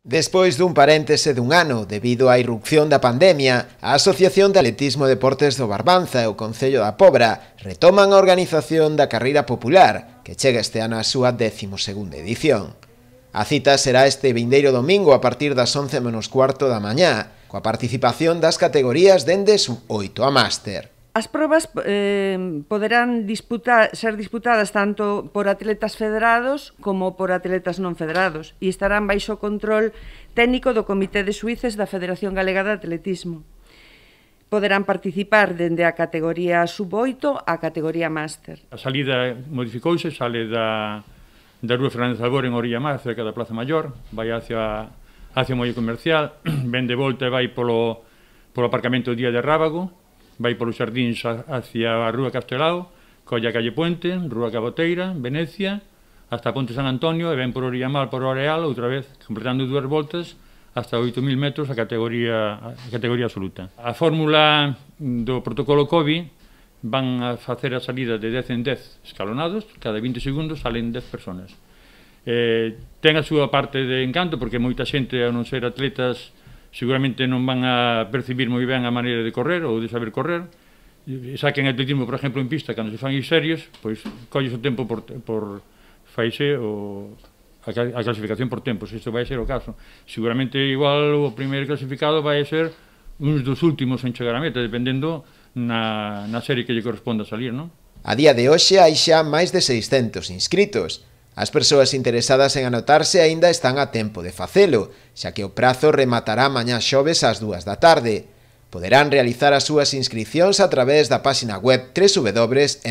Despois dun paréntese dun ano debido á irrupción da pandemia, a Asociación de Atletismo e Deportes do Barbanza e o Concello da Pobra retoman a organización da carreira popular, que chega este ano á súa 12ª edición. A cita será este vindeiro domingo a partir das 11 menos cuarto da mañá, coa participación das categorías dende sub-8 a máster. As probas poderán ser disputadas tanto por atletas federados como por atletas non federados e estarán baixo o control técnico do Comité de Xuíces da Federación Galega de Atletismo. Poderán participar dende a categoría sub-8 á categoría máster. A salida modificouse, sale da Rúa Fernández Albor en Orilla Mar, cerca da Plaza Maior, vai hacia o Molle Comercial, ven de volta e vai polo aparcamento Día de Rábago, vai polos xardíns hacia a Rúa Castelao, colla Calle Puente, Rúa Caboteira, Venecia, hasta Ponte San Antonio e ven por Oriamal, por Areal, outra vez, completando 2 voltas, hasta 8.000 metros a categoría absoluta. A fórmula do protocolo COVID van a facer a salida de 10 en 10 escalonados, cada 20 segundos salen 10 personas. Ten a súa parte de encanto, porque moita xente, a non ser atletas, seguramente non van a percibir moi ben a maneira de correr ou de saber correr. Xa que en atletismo, por exemplo, en pista, cando se fan serios, pois colles o tempo faise a clasificación por tempos, isto vai ser o caso. Seguramente igual o primeiro clasificado vai ser uns dos últimos en chegar a meta, dependendo na serie que lle corresponda salir, non? A día de hoxe hai xa máis de 600 inscritos. As persoas interesadas en anotarse aínda están a tempo de facelo, xa que o prazo rematará mañá xoves ás 2 da tarde. Poderán realizar as súas inscricións a través da páxina web www.msports.es.